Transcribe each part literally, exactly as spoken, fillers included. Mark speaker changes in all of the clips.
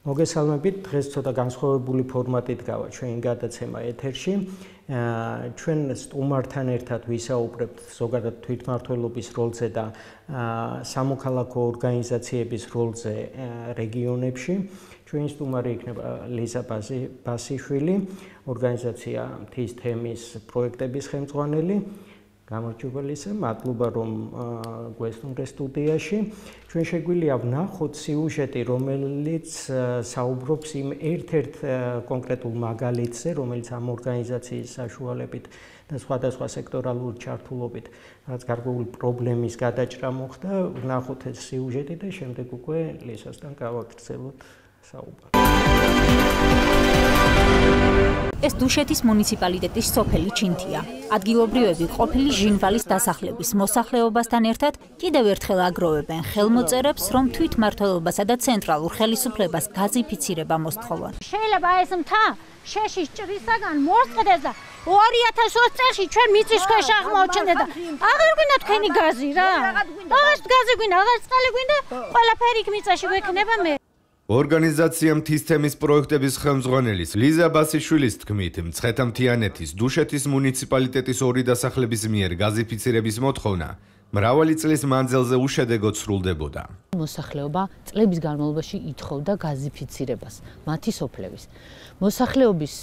Speaker 1: მოგესალმებით, დღეს ცოტა განსხვავებული ფორმატით გავა ჩვენ გადაცემა ეთერში. ჩვენ სტუმართან ერთად ვისაუბრებთ ზოგადად თვითმმართველობის როლზე და სამოქალაქო ორგანიზაციების როლზე რეგიონებში. ჩვენი სტუმარი იქნება ლიზა ბასიშვილი, ორგანიზაცია მთის თემის პროექტების ხელმძღვანელი. გამარჯობა ლიზა, მადლობა რომ გვესტუმრე სტუდიაში. ჩვენ შეგვიძლია ვნახოთ სიუჟეტი, რომელიც საუბრობს იმ ერთ-ერთ კონკრეტულ მაგალითზე, რომელიც ამ ორგანიზაციის საშუალებით და სხვადასხვა სექტორალური ჩართულობით რაც გარკვეული პრობლემის გადაჭრა მოხდა. ვნახოთ ეს სიუჟეტი და შემდეგ უკვე ლიზასთან გავაგრძელოთ საუბარი.
Speaker 2: ეს დუშეთის მუნიციპალიტეტის სოფელი ჩინთია. ადგილობრივები ყოფილი ჟინვალის დასახლების მოსახლეობასთან ერთად კიდევ ერთხელ აგროვებენ ხელმოწერებს, რომ თვითმმართველობასა და ცენტრალურ ხელისუფლებას გაზიფიცირება მოსთხოვონ.
Speaker 3: შეიძლება ეს მთა შეშის ჭრისაგან მოსწყდეს და ორი ათას ოცი წელს ჩვენ მიწის ქვეშ აღმოჩნდეთ და აღარ გვინდა თქვენი გაზი რა. აღარ გაზი გვინდა, აღარ წყალი გვინდა, ყველაფერი იქ მიწაში გვექნება მე.
Speaker 4: ორგანიზაცია მთის თემის პროექტების ხელმძღვანელის ლიზა ბასიშვილის თქმით, მცხეთა-მთიანეთის დუშეთის მუნიციპალიტეტის ორი დასახლების მიერ გაზიფიცირების მოთხოვნა მრავალი წლის მანძილზე უშედეგოდ სრულდებოდა.
Speaker 5: მოსახლეობა წლების განმავლობაში ითხოვდა გაზიფიცირებას, მათი სოფლების. მოსახლეობის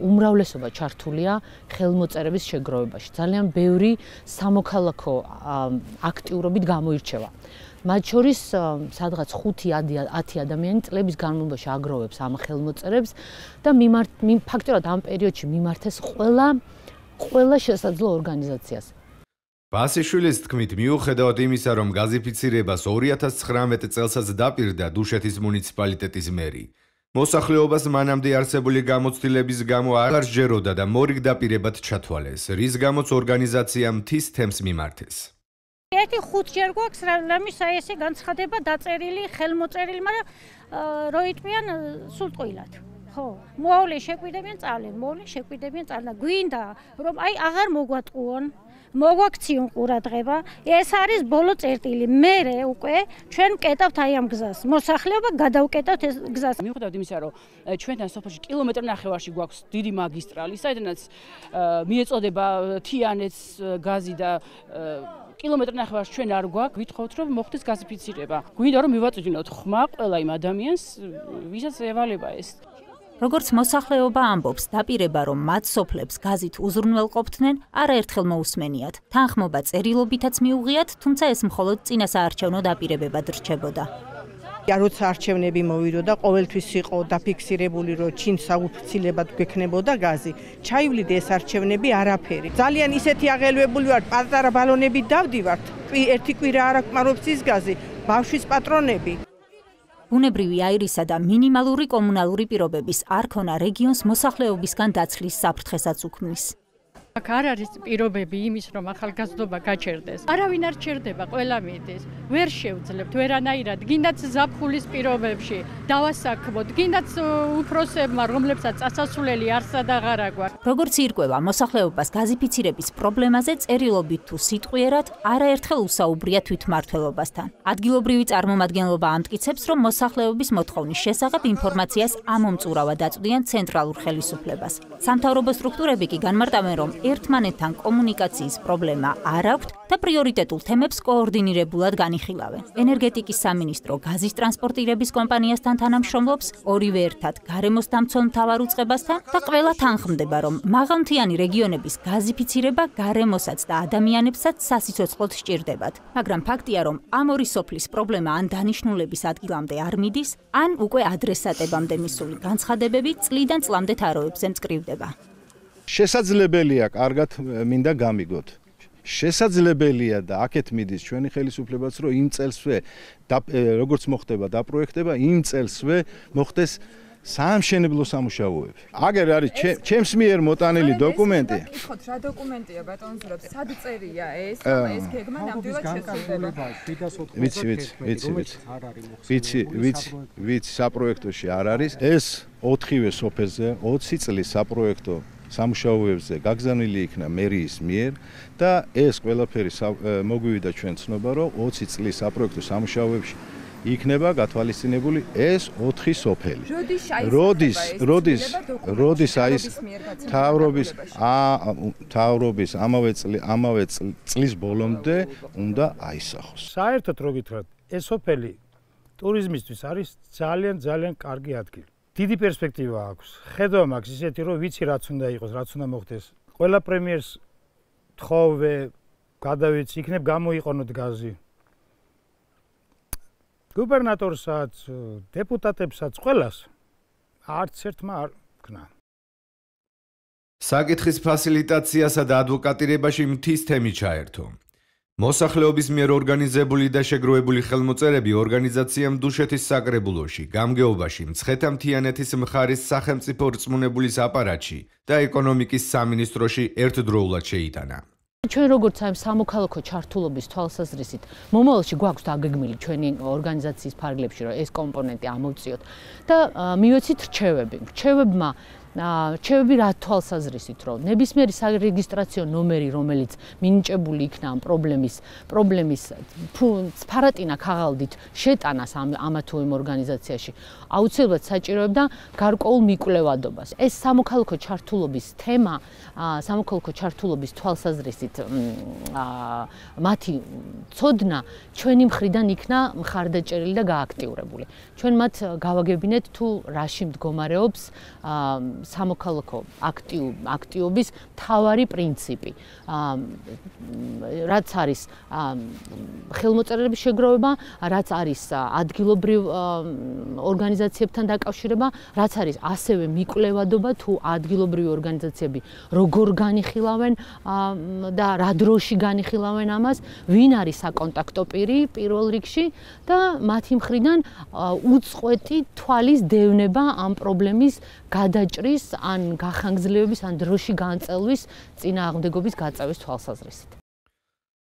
Speaker 5: უმრავლესობა ჩართულია ხელმოწერების შეგროვებაში. ძალიან ბევრი სამოქალაქო აქტიურობით გამოირჩევა. მათ შორის სადღაც ხუთი ათი ადამიანი წლების განმავლობაში აგროვებს ამ ხელმოწერებს და ფაქტობრივად ამ პერიოდში მიმართეს ყველა ყველა შესაძლო ორგანიზაციას.
Speaker 4: ბასიშვილის თქმით, მიუხედავად იმისა, რომ გაზიფიცირებას ორი ათას ცხრამეტ წელსაც დაპირდა დუშეთის მუნიციპალიტეტის მერი, მოსახლეობას მანამდე არსებული გამოცდილების გამო აღარ სჯეროდა და მორიგ დაპირებად ჩათვალეს, რის გამოც ორგანიზაციამ მთის თემს მიმართეს.
Speaker 3: ერთი ხუთჯერ გვაქვს რამის ესე განცხადება დაწერილი, ხელმოწერილი, მაგრამ როიტყვიან სულ ტყუილად. ხო, მოავლე შეკვიდებიან წავლენ, მოავლე შეკვიდებიან წავლენ. გვინდა რომ აი აღარ მოგვატყუონ, მოგვაქციონ ყურადღება. ეს არის ბოლო წერტილი. მერე უკვე ჩვენ ვკეტავთ აი ამ გზას. მოსახლეობა გადავკეტავთ ეს გზას.
Speaker 6: მიუხედავად იმისა, რომ ჩვენთან სოფელში კილომეტრ ნახევარში გვაქვს დიდი მაგისტრალი, საიდანაც მიეწოდება თიანეთს გაზი და კილომეტრ ნახევარს ჩვენ არ გვაქვს, ვითხოვთ რომ მოხდეს გაზიფიცირება. გვინდა რომ მივაწვდინოთ ხმა ყველა იმ ადამიანს, ვისაც ევალება ეს.
Speaker 2: როგორც მოსახლეობა ამბობს, დაპირება რომ მათ სოფლებს გაზით უზრუნველყოფდნენ, არაერთხელ მოусმენიათ. თანხმობა წერილობითაც მიუღიათ, თუმცა ეს მხოლოდ წინასაარჩევნო დაპირებებად რჩებოდა.
Speaker 7: როცა არჩევნები მოვიდოდა, ყოველთვის იყო დაფიქსირებული, რომ ჩინ საუფიცილებად გვექნებოდა გაზი. ჩაივლიდა ეს არჩევნები არაფერი. ძალიან ისეთი აღელვებული ვართ, პატარა ბალონებით დავდივართ. ერთი კვირა არ აქვს ის გაზი, ბავშვის პატრონები.
Speaker 2: ბუნებრივი აირისა და მინიმალური კომუნალური პირობების არქონა რეგიონს მოსახლეობისგან დაცლის საფრთხესაც უქმნის.
Speaker 8: აქ არ არის პირობები იმის, რომ ახალგაზრდობა გაჩერდეს. არავინ არ ჩერდება, ყველა მიდის. ვერ შევძლებთ ვერანაირად, გინდაც ზაფხულის პირობებში დავასაქმოთ, გინდაც უფროსებმა, რომლებსაც წასასვლელი არსად აღარ აგვაქვს.
Speaker 2: როგორც ირკვევა, მოსახლეობას გაზიფიცირების პრობლემაზე წერილობით თუ სიტყვიერად არაერთხელ უსაუბრია თვითმმართველობასთან. ადგილობრივი წარმომადგენლობა ამტკიცებს, რომ მოსახლეობის მოთხოვნის შესახებ ინფორმაციას ამომწურავად აწვდიან ცენტრალურ ხელისუფლებას. სამთავრობო სტრუქტურები კი განმარტავენ, რომ ერთმანეთთან კომუნიკაციის პრობლემა არ აქვთ და პრიორიტეტულ თემებს კოორდინირებულად განიხილავენ. ენერგეტიკის სამინისტრო გაზის ტრანსპორტირების კომპანიასთან თანამშრომლობს, ორივე ერთად გარემოს დამცველ მთავარ უწყებასთან და ყველა თანხმდება, რომ მაღალმთიანი რეგიონების გაზიფიცირება გარემოსაც და ადამიანებსაც სასიცოცხლოდ სჭირდებათ. მაგრამ ფაქტია, რომ ამ ორი სოფლის პრობლემა ან დანიშნულების ადგილამდე არ მიდის, ან უკვე ადრესატებამდე მისული განცხადებები წლიდან წლამდე თაროებზე მწკრივდება.
Speaker 9: შესაძლებელია კარგად მინდა გამიგოთ. შესაძლებელია და აქეთ მიდის ჩვენი ხელისუფლებაც, რომ იმ წელსვე როგორც მოხდება დაპროექტება, იმ წელსვე მოხდეს საამშენებლო სამუშაოები. აგერ არის ჩემს მიერ მოტანილი დოკუმენტი.
Speaker 10: გითხოთ რა დოკუმენტია ბატონზურაბ, სად წერია ეს? ეს გეგმა ნამდვილად შესაძლებელია.
Speaker 9: ვიცი, ვიცი, ვიცი, ვიცი. ვიცი, ვიცი, ვიცი, საპროექტოში არ არის. ეს ოთხივე სოფელზე ოცი წლის საპროექტო სამუშაოებზე გაგზავნილი იქნა მერიის მიერ და ეს ყველაფერი მოგვივიდა ჩვენ ცნობა, რომ ოცი წლის საპროექტო სამუშაოებში იქნება გათვალისწინებული ეს ოთხი სოფელი. როდის როდის როდის არის თავრობის თავრობის ამავე ამავე წლის ბოლომდე უნდა აისახოს.
Speaker 11: საერთოდ რო გითხრათ, ეს სოფელი ტურიზმისთვის არის ძალიან ძალიან კარგი ადგილი. დიდი პერსპექტივა აქვს. ხედვა მაქვს ისეთი, რომ ვიცი რაც უნდა იყოს, რაც უნდა მოხდეს. ყველა პრემიერს თხოვე, გადავეცი, იქნებ გამოიყენოთ გაზი. გუბერნატორსაც, დეპუტატებსაც, ყველას არც ერთმა არ ქნა.
Speaker 4: საკითხის ფასილიტაციასა და ადვოკატირებაში მთის თემი ჩაერთო. მოსახლეობის მიერ ორგანიზებული და შეგროვებული ხელმოწერები ორგანიზაციამ დუშეთის საკრებულოში, გამგეობაში, მცხეთა-მთიანეთის მხარის სახელმწიფო რწმუნებულის აპარატში და ეკონომიკის სამინისტროში ერთდროულად შეიტანა.
Speaker 5: ჩვენ როგორც აი სამოქალაქო ჩართულობის თვალსაზრისით მომავალში გვაქვს დაგეგმილი ჩვენი ორგანიზაციის ფარგლებში რომ ეს კომპონენტი ამოვწიოთ და მივეცით რჩევები. რჩევებმა რჩევები რა თვალსაზრისით რომ ნებისმიერი სარეგისტრაციო ნომერი რომელიც მინიჭებული იქნა ამ პრობლემის პრობლემის ფარატინა ქაღალდით შეტანას ამ ამა თუ იმ ორგანიზაციაში აუცილებლად საჭიროებდა გარკვეულ მიკვლევადობას. ეს სამოქალაქო ჩართულობის თემა სამოქალაქო ჩართულობის თვალსაზრისით მათი ცოდნა ჩვენი მხრიდან იქნა მხარდაჭერილი და გააქტიურებული. ჩვენ მათ გავაგებინეთ თუ რაში მდგომარეობს სამოქალაქო აქტიობის მთავარი პრინციპი. რაც არის ხელმოწერების შეგროვება, რაც არის ადგილობრივ ორგანიზაციებთან დაკავშირება, რაც არის ასევე მიკვლევადობა თუ ადგილობრივი ორგანიზაციები როგორ განიხილავენ და რა დროში განიხილავენ ამას, ვინ არის საკონტაქტო პირი პირველ რიგში და მათი მხრიდან უწყვეტი თვალის დევნება ამ პრობლემის გადაჭრის ან გახანგრძლივების ან დროში განწელვის წინააღმდეგობის გაწევის თვალსაზრისით.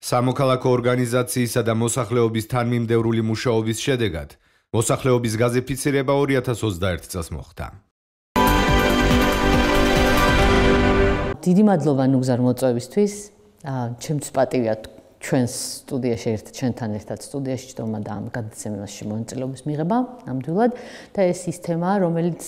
Speaker 4: სამოქალაქო ორგანიზაციისა და მოსახლეობის თანმიმდევრული მუშაობის შედეგად მოსახლეობის გაზიფიცირება ორი ათას ოცდაერთი წელს მოხდა.
Speaker 5: დიდი მადლობა ნუგზარ მოწვევისთვის. ჩემთვის პატივია ჩვენს სტუდიაში ერთ ჩვენთან ერთად სტუდიაში ჯდომა და ამ გადაცემაში მონაწილეობის მიღება ნამდვილად და ეს ის თემაა რომელიც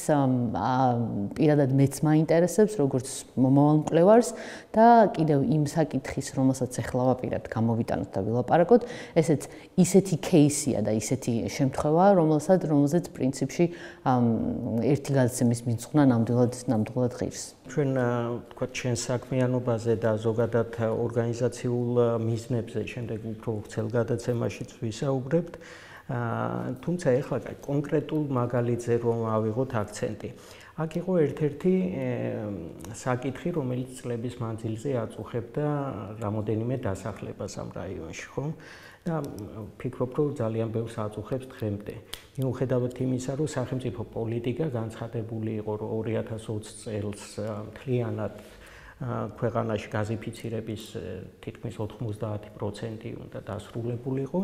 Speaker 5: პირადად მეც მაინტერესებს როგორც მომავალ მკვლევარს და კიდევ იმ საკითხის რომელსაც ახლა ვაპირებთ გამოვიტანოთ და ვილაპარაკოთ ესეც ისეთი кейსია და ისეთი შემთხვევაა რომელსაც რომელზეც პრინციპში ერთი გადაცემის მიწვნა ნამდვილად ნამდვილად ღირს.
Speaker 1: ჩვენ თქვა ჩვენ საქმიანობაზე და ზოგადად ორგანიზაციულ მიზნებზე შემდეგ უფრო ვრცელ გადაცემაშიც ვისაუბრებთ. თუმცა ეხლა კონკრეტულ მაგალითზე რომ ავიღოთ აქცენტი. აქ იყო ერთ-ერთი საკითხი, რომელიც წლების მანძილზე აწუხებდა რამოდენიმე დასახლებას ამ რაიონში, ხო? და ვფიქრობ, რომ ძალიან ბევრს აწუხებს დღემდე. მიუხედავად იმისა, რომ სახელმწიფო პოლიტიკა განცხადებული იყო, რომ ორი ათას ოცი წელს მთლიანად ქვეყანაში გაზიფიცირების თითქმის ოთხმოცდაათი პროცენტი უნდა დასრულებულიყო.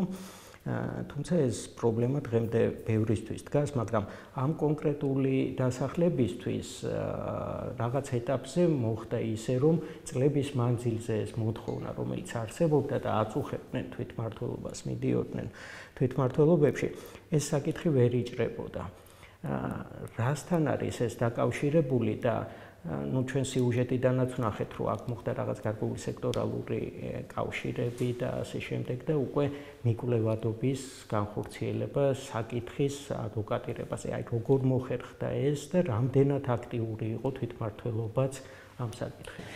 Speaker 1: თუმცა ეს პრობლემა დღემდე ბევრისთვის დგას, მაგრამ ამ კონკრეტული დასახლებისთვის რაღაც ეტაპზე მოხდა ისე, რომ წლების მანძილზე ეს მოთხოვნა, რომელიც არსებობდა და აწუხებდნენ თვითმმართველობას, მიდიოდნენ თვითმმართველობებში, ეს საკითხი ვერ იჭრებოდა. რასთან არის ეს დაკავშირებული და ну ჩვენ სიუჟეტიდანაც ვნახეთ რომ აქ მოხდა რაღაც გარკვეული სექტორალური კავშირები და ასე შემდეგ და უკვე მიკვლევადობის განხორციელება საკითხის ადვოკატირებაზე. აი როგორ მოხერხდა ეს და რამდენად აქტიური იყო თვითმმართველობაც ამ საკითხებში.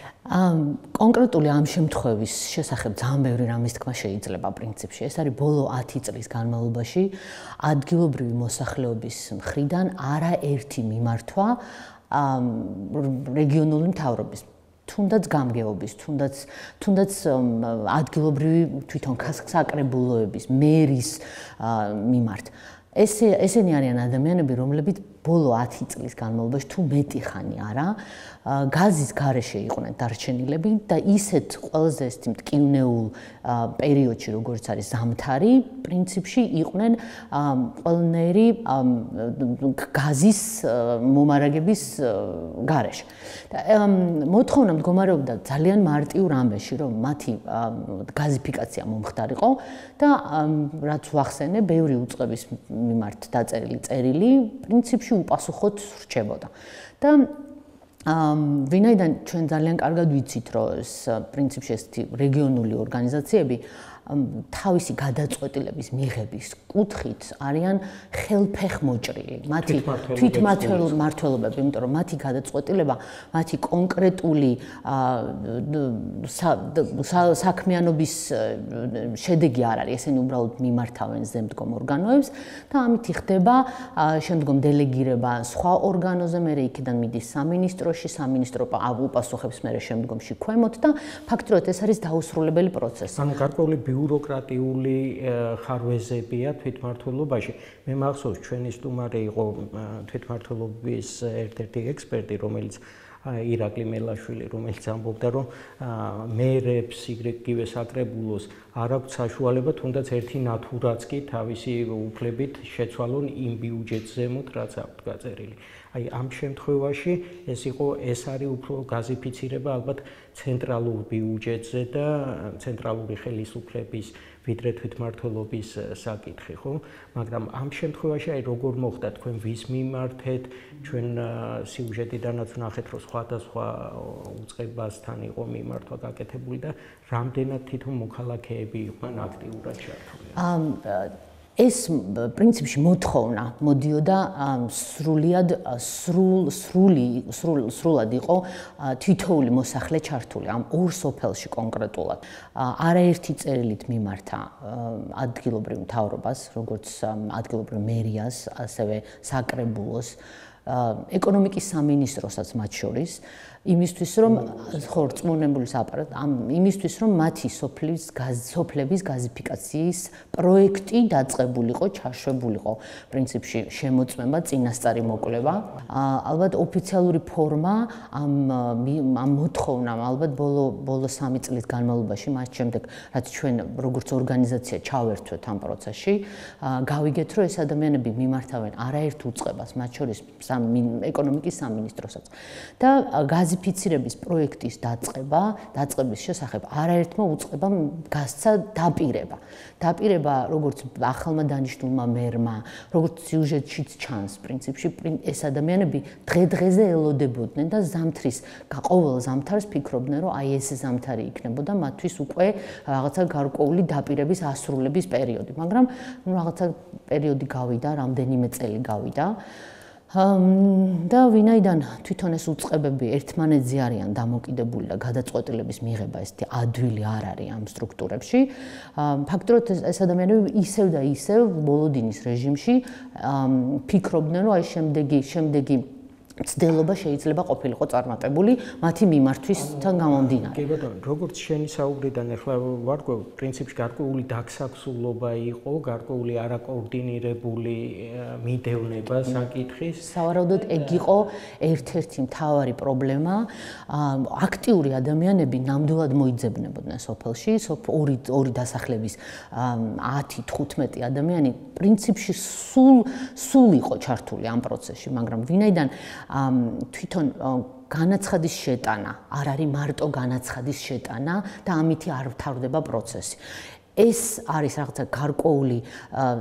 Speaker 5: კონკრეტული ამ შემთხვევის შესახებ ძალიან ბევრი რამის თქმა შეიძლება პრინციპში. ეს არის ბოლო ათი წლის განმავლობაში ადგილობრივი მოსახლეობის მხრიდან არაერთი მიმართვა რეგიონული მთავრობის თუნდაც გამგეობის, თუნდაც თუნდაც ადგილობრივი თვითონ საკრებულოების, მერის მიმართ. ესე ესენი არიან ადამიანები, რომლებიც ბოლო ათი წლის განმავლობაში თუ მეტი ხანი არა გაზის გარეშე იყვნენ დარჩენილები და ისეთ ყველაზე ეს მტკივნეულ პერიოდში როგორც არის ზამთარი პრინციპში იყვნენ ყველნაირი გაზის მომარაგების გარეშე. მოთხოვნა მდგომარეობდა ძალიან მარტივ რამეში რომ მათი გაზიფიკაცია მომხდარიყო და რაც ვახსენე ბევრი უწყების მიმართ დაწერილი წერილი პრინციპში უპასუხოდ რჩებოდა. და ვინაიდან ჩვენ ძალიან კარგად ვიცით რომ ეს პრინციპში ესეთი რეგიონული ორგანიზაციები თავისი გადაწყვეტილების მიღების კუთხით არიან ხელფეხმოჭრილი. მათი თვითმმართველობები, იმიტომ რომ მათი გადაწყვეტილება, მათი კონკრეტული საქმიანობის შედეგი არ არის, ესენი უბრალოდ მიმართავენ ზემდგომ ორგანოებს და ამით ხდება შემდგომ დელეგირება სხვა ორგანოზე, მერე იქიდან მიდის სამინისტროში, სამინისტრო უპასუხებს მერე შემდგომში ქვემოთ და ფაქტობრივად ეს არის დაუსრულებელი პროცესი.
Speaker 1: ანუ გარკვეული ბიუროკრატიული ხარვეზებია თვითმმართველობაში. მე მახსოვს ჩვენი სტუმარი იყო თვითმმართველობის ერთ-ერთი ექსპერტი, რომელიც ირაკლი მელაშვილი, რომელიც ამბობდა, რომ მერებს, იგივე საკრებულოს არ აქვს საშუალება თუნდაც ერთი ნათურაც კი თავისი უფლებით შეცვალონ იმ ბიუჯეტს ზემოთ, რაც აქვს გაწერილი. აი ამ შემთხვევაში ეს იყო ეს არის უფრო გაზიფიცირება ალბათ ცენტრალურ ბიუჯეტზე და ცენტრალური ხელისუფლების ვიდრე თვითმმართველობის საკითხი, ხო? მაგრამ ამ შემთხვევაში აი როგორ მოხდა თქვენ ვის მიმართეთ, ჩვენ სიუჟეტიდანაც ვნახეთ, რომ სხვადასხვა უწყებასთან იყო მიმართვა გაკეთებული და რამდენად თვითონ მოქალაქეები იყვნენ აქტიურად ჩართული.
Speaker 5: ეს პრინციპში მოთხოვნა მოდიოდა სრულიად სრულ სრული სრულად იყო თითოეული მოსახლე ჩართული ამ ორ სოფელში კონკრეტულად. არაერთი წერილით მიმართა ადგილობრივ მთავრობას, როგორც ადგილობრივ მერიას, ასევე საკრებულოს, ეკონომიკის სამინისტროსაც მათ შორის, იმისთვის რომ ხო რწმუნებულის აპარატ ამ იმისთვის რომ მათი სოფლის სოფლების გაზიფიკაციის პროექტი დაწყებულიყო, ჩაშვებულიყო პრინციპში შემოწმება, წინასწარი მოკვლევა. ალბათ ოფიციალური ფორმა ამ ამ მოთხოვნამ ალბათ ბოლო ბოლო სამი წლის განმავლობაში, მას შემდეგ რაც ჩვენ როგორც ორგანიზაცია ჩავერთვეთ ამ პროცესში, გავიგეთ რომ ეს ადამიანები მიმართავენ არაერთ უწყებას, მათ შორის ეკონომიკის სამინისტროსაც და გაზიფიცირების პროექტის დაწყება, დაწყების შესახებ არაერთმა უწყებამ გასცა დაპირება. დაპირება როგორც ახალმა დანიშნულმა მერმა, როგორც სიუჟეტშიც ჩანს, პრინციპში ეს ადამიანები დღე-დღეზე ელოდებოდნენ და ზამთრის, ყოველ ზამთარს ფიქრობდნენ, რომ აი ეს ზამთარი იქნებოდა მათთვის უკვე რაღაცა გარკვეული დაპირების ასრულების პერიოდი, მაგრამ ნუ რაღაცა პერიოდი გავიდა, რამდენიმე წელი გავიდა. და ვინაიდან თვითონ ეს უწყებები ერთმანეთზე არიან დამოკიდებული და გადაწყვეტილების მიღება ესეთი ადვილი არ არის ამ სტრუქტურებში, ფაქტობრივად ეს ადამიანები ისევ და ისევ ბოლოდინის რეჟიმში ფიქრობდნენ, რომ აი შემდეგი შემდეგი ცდელობა შეიძლება ყოფილიყო წარმატებული მათი მიმართვისთან გამომდინარე.
Speaker 1: კი ბატონო, როგორც შენი საუბრიდან ახლა ვარკვევ, პრინციპში გარკვეული დაგსაქსულობა იყო, გარკვეული არაკოორდინირებული მიდევნება საკითხის.
Speaker 5: სავარაუდოდ ეგ იყო ერთ-ერთი მთავარი პრობლემა. აქტიური ადამიანები ნამდვილად მოიძებნებოდნენ სოფელში, ორი ორი დასახლების ათი თხუთმეტი ადამიანი პრინციპში სულ სულ იყო ჩართული ამ პროცესში, მაგრამ ვინაიდან თვითონ განაცხადის შეტანა არ არის მარტო განაცხადის შეტანა და ამითი არ ვთავრდება პროცესი. ეს არის რაღაცა გარკვეული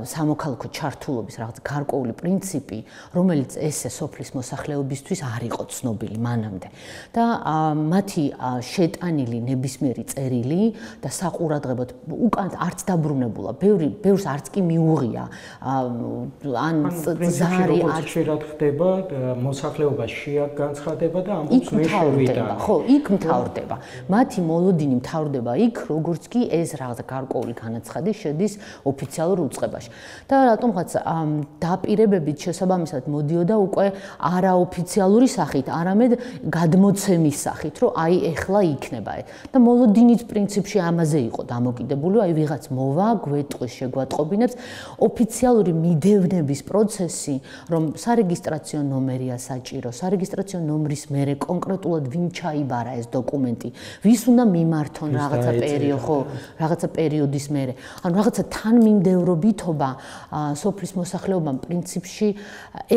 Speaker 5: სამოქალაქო ჩართულობის რაღაცა გარკვეული პრინციპი, რომელიც ესე სოფლის მოსახლეობისთვის არ იყო ცნობილი მანამდე. და მათი შეტანილი ნებისმიერი წერილი და საყურადღებოდ უკან არც დაბრუნებულა, ბევრი ბევრს არც კი მიუღია. ან
Speaker 1: ზარი არც შეიძლება ხდება, მოსახლეობა შეაგანცხადება და ამბობს მე შევიდა.
Speaker 5: ხო, იქ მთავრდება. მათი მოლოდინი მთავრდება იქ, როგორც კი ეს რაღაცა გარკვეული ოფიციალური განაცხადი შედის ოფიციალურ უწყებაში. და რატომღაც დაპირებებით შესაბამისად მოდიოდა უკვე არაოფიციალური სახით, არამედ გადმოცემის სახით, რომ აი ეხლა იქნება. და მოლოდინიც პრინციპში ამაზე იყო დამოკიდებული, აი ვიღაც მოვა, გვეტყვის, შეგვატყობინებს ოფიციალური მიდევნების პროცესი, რომ სარეგისტრაციო ნომერია საჭირო, სარეგისტრაციო ნომრის მერე კონკრეტულად ვინ ჩაიბარა ეს დოკუმენტი, ვის უნდა მიმართონ რაღაცა პერიოდი, ხო, რაღაცა პერიოდის მერე. ანუ რაღაცა თანმიმდევრობითობა სოფლის მოსახლეობამ პრინციპში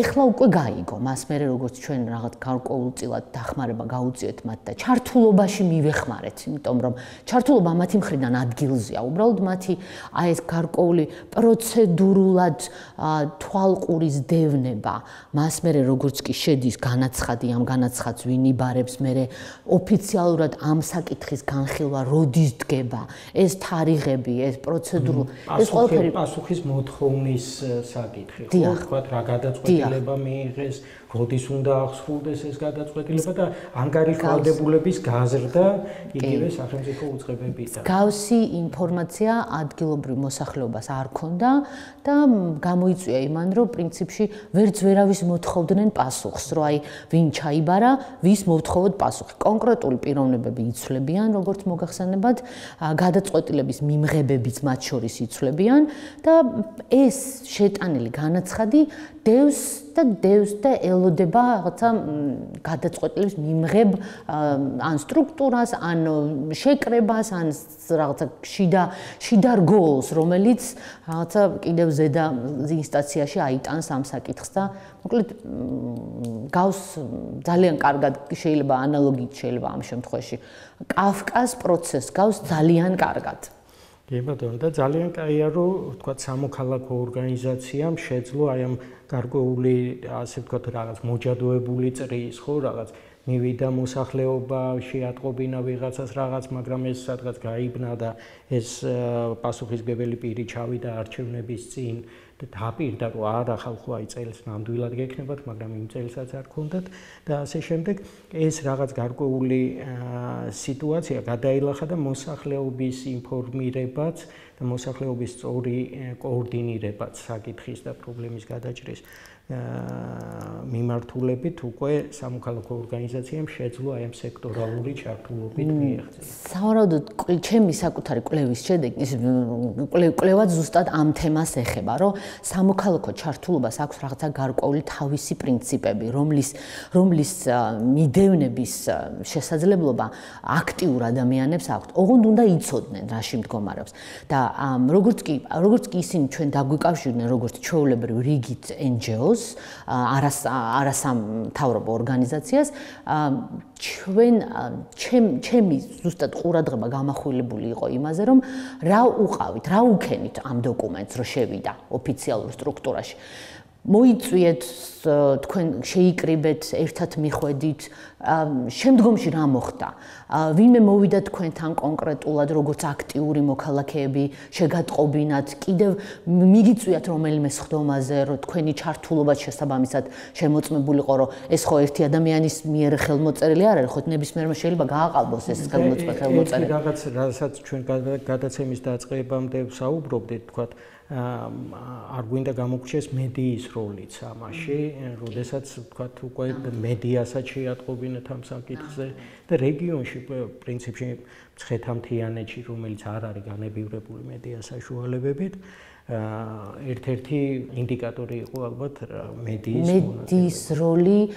Speaker 5: ეხლა უკვე გაიგო, მას მერე როგორც ჩვენ რაღაც გარკვეულწილად დახმარება გაუწიეთ მათ და ჩართულობაში მივეხმარეთ, იმიტომ რომ ჩართულობა მათი მხრიდან ადგილზეა, უბრალოდ მათი აი ეს გარკვეული პროცედურულად თვალყურის დევნება, მას მერე როგორც კი შედის განაცხადი, ამ განაცხადს ვინ იბარებს, მერე ოფიციალურად ამ საკითხის განხილვა როდის დგება, ეს თარიღები, ეს პროცედურა, ეს ყველაფერი
Speaker 1: პასუხის მოთხოვნის საკითხი, ხო, თქვა რა გადაწყვეტილება მიიღეს, როდის უნდა აღსრულდეს ეს გადაწყვეტილება და ანგარიშვალდებულების გაზრდა იგივე სახელმწიფო უწყებებიდან.
Speaker 5: გავსი ინფორმაცია ადგილობრივ მოსახლეობას არ ქონდა და გამოიწვია იმან, რომ პრინციპში ვერც ვერავის მოთხოვდნენ პასუხს, რომ აი ვინ ჩაიბარა, ვის მოვთხოვოთ პასუხი. კონკრეტული პიროვნებები იცვლებიან, როგორც მოგახსენებათ, გადაწყვეტილების მიმღებებიც მათ შორის იცვლებიან და ეს შეტანილი განაცხადი დევს და დევს და ელოდება რაღაცა გადაწყვეტილების მიმღებ ან სტრუქტურას, ან შეკრებას, ან რაღაცა შიდა შიდა რგოლს, რომელიც რაღაცა კიდევ ზედა ინსტანციაში აიტანს ამ საკითხს და მოკლედ გავს ძალიან კარგად შეიძლება ანალოგიით შეიძლება ამ შემთხვევაში კაფკას პროცესს გავს ძალიან კარგად.
Speaker 1: კი ბატონო, და ძალიან კაია, რომ თქვა სამოქალაქო ორგანიზაციამ შეძლო აი ამ გარკვეული, ასე ვთქვათ, რაღაც მოჯადოებული წრის, ხო, რაღაც მივიდა მოსახლეობა, შეატყობინა ვიღაცას რაღაც, მაგრამ ეს სადღაც გაიბნა და ეს პასუხისმგებელი პირი ჩავიდა არჩევნების წინ და დაპირდა, რომ არა ხალხო აი წელს ნამდვილად გექნებათ, მაგრამ იმ წელსაც არ ქონდათ და ასე შემდეგ. ეს რაღაც გარკვეული სიტუაცია გადაილახა და მოსახლეობის ინფორმირებაც და მოსახლეობის სწორი კოორდინირებაც საკითხის და პრობლემის გადაჭრის მიმართულებით უკვე სამოქალაქო ორგანიზაციამ შეძლო აი ამ სექტორალური ჩართულობით მიიღწია.
Speaker 5: სავარაუდოდ ჩემი საკუთარი კვლევის შედეგი კვლევა ზუსტად ამ თემას ეხება, რომ სამოქალაქო ჩართულობას აქვს რაღაცა გარკვეული თავისი პრინციპები, რომლის რომლის მიდევნების შესაძლებლობა აქტიურ ადამიანებს აქვს. ოღონდ უნდა იცოდნენ რაში მდგომარეობს და როგორც კი როგორც კი ისინი ჩვენ დაგვიკავშირდნენ როგორც ჩვეულებრივ რიგით en ge os არასამთავრობო ორგანიზაციას ჩვენ ჩემი ზუსტად ყურადღება გამახვილებული იყო იმაზე, რომ რა უყავით, რა უქენით ამ დოკუმენტს, რომ შევიდა ოფიციალურ სტრუქტურაში. მოიწვიეთ, თქვენ შეიკრიბეთ, ერთად მიხვედით, შემდგომში რა მოხდა? ვინმე მოვიდა თქვენთან კონკრეტულად, როგორც აქტიური მოქალაქეები, შეგატყობინათ, კიდევ მიგიწვიათ რომელიმე სხდომაზე, რომ თქვენი ჩართულობა შესაბამისად შემოწმებულიყო, რომ ეს ხო ერთი ადამიანის მიერ ხელმოწერილი არ არის, ხო ნებისმიერმა შეიძლება გააყალბოს ეს ხელმოწერილი.
Speaker 1: რაღაც რასაც ჩვენ გადაცემის დაწყებამდე ვსაუბრობდით, თქვათ არ გვინდა გამოგრჩეს მედიის როლიც ამაში, როდესაც თქვათ უკვე მედიასაც შეატყობინათ ამ საკითხზე და რეგიონში პრინციპში მცხეთა-მთიანეთში, რომელიც არ არის განებივრებული მედია საშუალებებით, ერთ-ერთი ინდიკატორი იყო ალბათ მედიის
Speaker 5: მედიის როლი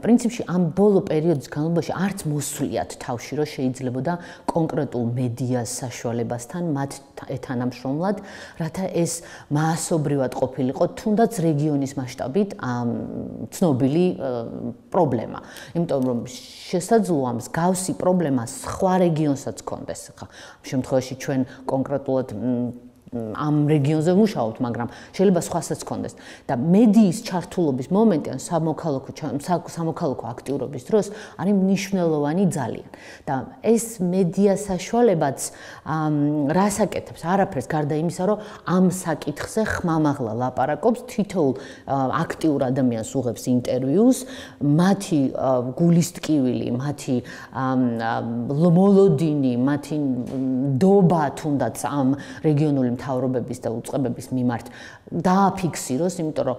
Speaker 5: პრინციპში ამ ბოლო პერიოდის განმავლობაში არც მოსვლიათ თავში, რომ შეიძლებოდა კონკრეტულ მედიას საშუალებასთან მათ ეთანამშრომლად, რათა ეს მასობრივად ყოფილიყო თუნდაც რეგიონის მასშტაბით ცნობილი პრობლემა. იმიტომ რომ შესაძლოა მსგავსი პრობლემა სხვა რეგიონსაც ჰქონდეს. ამ შემთხვევაში ჩვენ კონკრეტულად ამ რეგიონზე ვმუშაობთ, მაგრამ შეიძლება სხვასაც გქონდეს. და მედიის ჩართულობის მომენტი ან სამოქალაქო სამოქალაქო აქტიურობის დროს არის მნიშვნელოვანი ძალიან. და ეს მედია საშუალებაც რას აკეთებს? არაფერს გარდა იმისა, რომ ამ საკითხზე ხმამაღლა ლაპარაკობს, თითოეულ აქტიურ ადამიანს უღებს ინტერვიუს, მათი გულისტკივილი, მათი მოლოდინი, მათი დობა თუნდაც ამ რეგიონული მთავრობების და უწყებების მიმართ დააფიქსიროს, იმიტომ რომ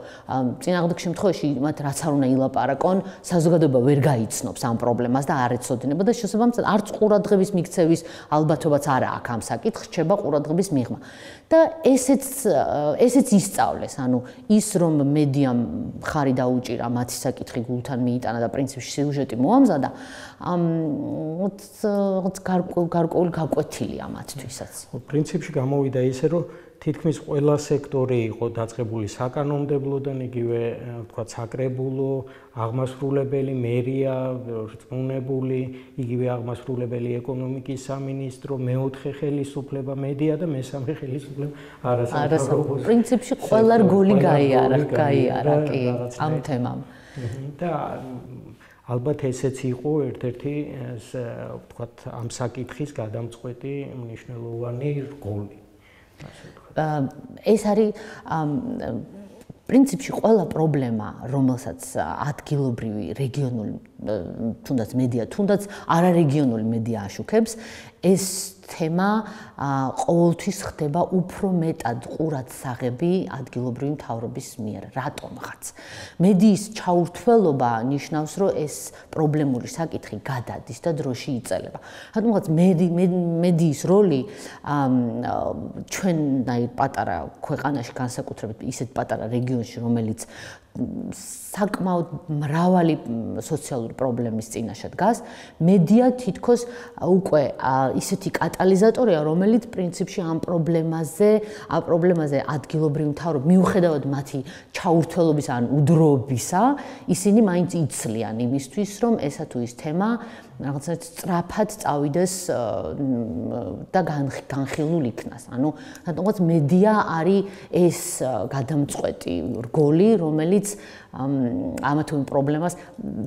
Speaker 5: წინააღმდეგ შემთხვევაში მათ რაც არ უნდა ილაპარაკონ, საზოგადოება ვერ გაიცნობს ამ პრობლემას და არ ეცოდინება და შესაბამისად არც ყურადღების მიქცევის ალბათობაც არ აქვს ამ საკითხს, რჩება ყურადღების მიღმა. და ესეც ესეც ისწავლეს, ანუ ის რომ მედიამ ხარი დაუჭირა მათი საკითხი გულთან მიიტანა და პრინციპში სიუჟეტი მოამზადა, რაღაც გარკვეული გაკვეთილია მათთვისაც.
Speaker 1: პრინციპში გამოვიდა ისე, რომ თითქმის ყველა სექტორი იყო დაწყებული საკანონმდებლოდან, იგივე ვთქვათ საკრებულო, აღმასრულებელი, მერია, რწმუნებული, იგივე აღმასრულებელი ეკონომიკის სამინისტრო, მეოთხე ხელისუფლება მედია და მესამე ხელისუფლება არასამთავრობო.
Speaker 5: პრინციპში ყველა რგოლი გაიარა, გაიარა კი ამ თემამ.
Speaker 1: და ალბათ ესეც იყო ერთ-ერთი ვთქვათ ამ საკითხის გადამწყვეტი მნიშვნელოვანი რგოლი.
Speaker 5: ეს არის პრინციპში ყველა პრობლემა, რომელსაც ადგილობრივი რეგიონული თუნდაც მედია, თუნდაც არარეგიონული მედია აშუქებს, ეს თემა ყოველთვის ხდება უფრო მეტად ყურადსაღები ადგილობრივი მთავრობის მიერ. რატომღაც? მედიის ჩაურთველობა ნიშნავს, რომ ეს პრობლემური საკითხი გადადის და დროში იწელება. რატომღაც მედიის როლი ჩვენნაირ პატარა ქვეყანაში, განსაკუთრებით ისეთ პატარა რეგიონში, რომელიც საკმაოდ მრავალი სოციალური პრობლემის წინაშე დგას, მედია თითქოს უკვე ისეთი კატალიზატორია, რომელიც პრინციპში ამ პრობლემაზე, ამ პრობლემაზე ადგილობრივი მთავრობა მიუხედავად მათი ჩაურთველობის ან უდროობისა, ისინი მაინც იცლიან იმისთვის, რომ ესა თუ ის თემა რაღაცნაირად სწრაფად წავიდეს და განხილულ იქნას. ანუ რატომღაც მედია არის ეს გადამწყვეტი რგოლი, რომელიც ამა თუ იმ პრობლემას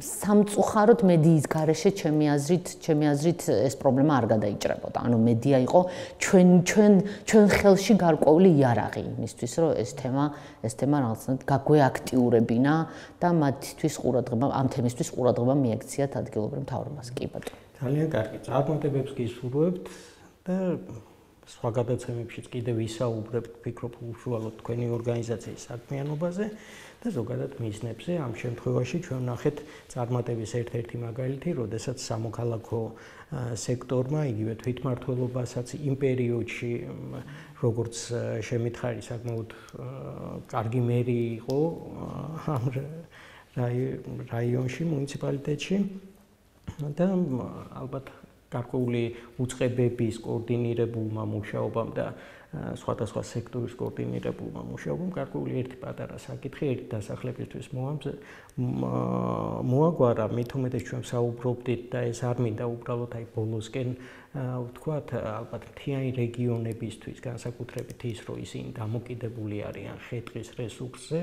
Speaker 5: სამწუხაროდ მედიის გარეშე ჩემი აზრით, ჩემი აზრით ეს პრობლემა არ გადაიჭრებოდა. ანუ მედია იყო ჩვენ ჩვენ ჩვენ ხელში გარკვეული იარაღი იმისთვის, რომ ეს თემა ეს თემა რაღაცნაირად გაგვეაქტიურებინა და მათთვის ყურადღება ამ თემისთვის ყურადღება მიექციათ ადგილობრივ მთავრობას. კი ბატონო.
Speaker 1: ძალიან კარგი. წარმატებებს გისურვებთ და სხვა გადაცემებშიც კიდევ ვისაუბრებთ, ვფიქრობ უშუალოდ თქვენი ორგანიზაციის საქმიანობაზე და ზოგადად მიზნებზე. ამ შემთხვევაში ჩვენ ვნახეთ წარმატების ერთ-ერთი მაგალითი, როდესაც სამოქალაქო სექტორმა, იგივე თვითმმართველობასაც იმ პერიოდში, როგორც შემითხარი, საკმაოდ კარგი მერი იყო ამ რაიონში, მუნიციპალიტეტში და ალბათ გარკვეული უწყებების კოორდინირებულმა მუშაობამ და სხვადასხვა სექტორის კოორდინირებულმა მუშაობამ გარკვეული ერთი პატარა საკითხი ერთი დასახლებისთვის მოაგვარა, მით უმეტეს ჩვენ საუბრობდით და ეს არ მინდა უბრალოდ აი ბოლოსკენ ვთქვათ, ალბათ მთიანი რეგიონებისთვის, განსაკუთრებით ის, რომ ისინი დამოკიდებული არიან ხე-ტყის რესურსზე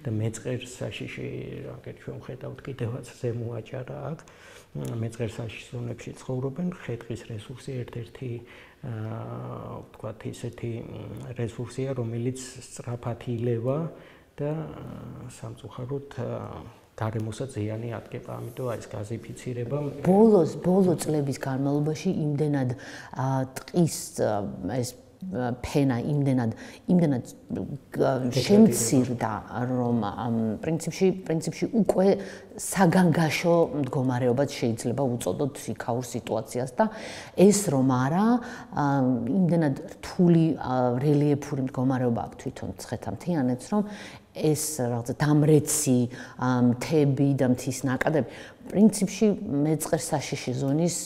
Speaker 1: და მეწყერ საშიში, აგერ ჩვენ ვხედავთ კიდევაც ზემო აჭარა აქ, მეწყერ საშიშ ზონებში ცხოვრობენ, ხე-ტყის რესურსი ერთ-ერთი ვთქვათ ისეთი რესურსია, რომელიც სწრაფად ილევა და სამწუხაროდ გარემოსაც ზიანი ატკება, ამიტომ აი ეს გაზიფიცირება
Speaker 5: ბოლოს ბოლო წლების განმავლობაში იმდენად ტყის ეს ფენა იმდენად იმდენად შემცირდა, რომ პრინციპში პრინციპში უკვე საგანგაშო მდგომარეობად შეიძლება უწოდოთ იქაურ სიტუაციას და ეს რომ არა იმდენად რთული რელიეფური მდგომარეობა აქვს თვითონ ცხეთამთიანეთს, რომ ეს რაღაცა დამრეცი მთები და მთის ნაკადები პრინციპში მეწყერ საშიში ზონის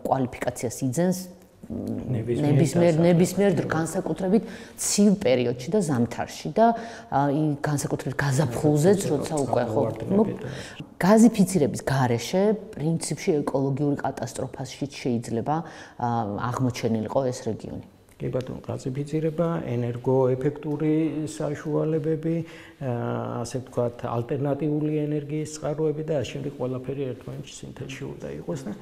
Speaker 5: კვალიფიკაციას იძენს ნებისმიერ ნებისმიერ განსაკუთრებით ცივ პერიოდში და ზამთარში და განსაკუთრებით გაზაფხულზეც, როცა უკვე ხო გაზიფიცირების გარეშე პრინციპში ეკოლოგიური კატასტროფაში შეიძლება აღმოჩენილიყო ეს რეგიონი.
Speaker 1: კი ბატონო, გაზიფიცირება, ენერგოეფექტური საშუალებები, ასე ვთქვათ, ალტერნატიული ენერგიის წყაროები და შემდეგ ყველაფერი ერთმანეთში სინთეზში უნდა იყოს და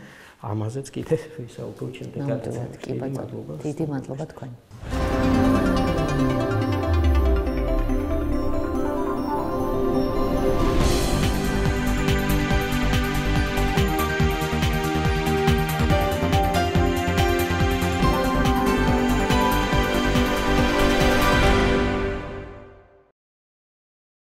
Speaker 1: ამაზეც კიდევ ვისაუბროთ შემდეგ.
Speaker 2: კი ბატონო, დიდი მადლობა თქვენ.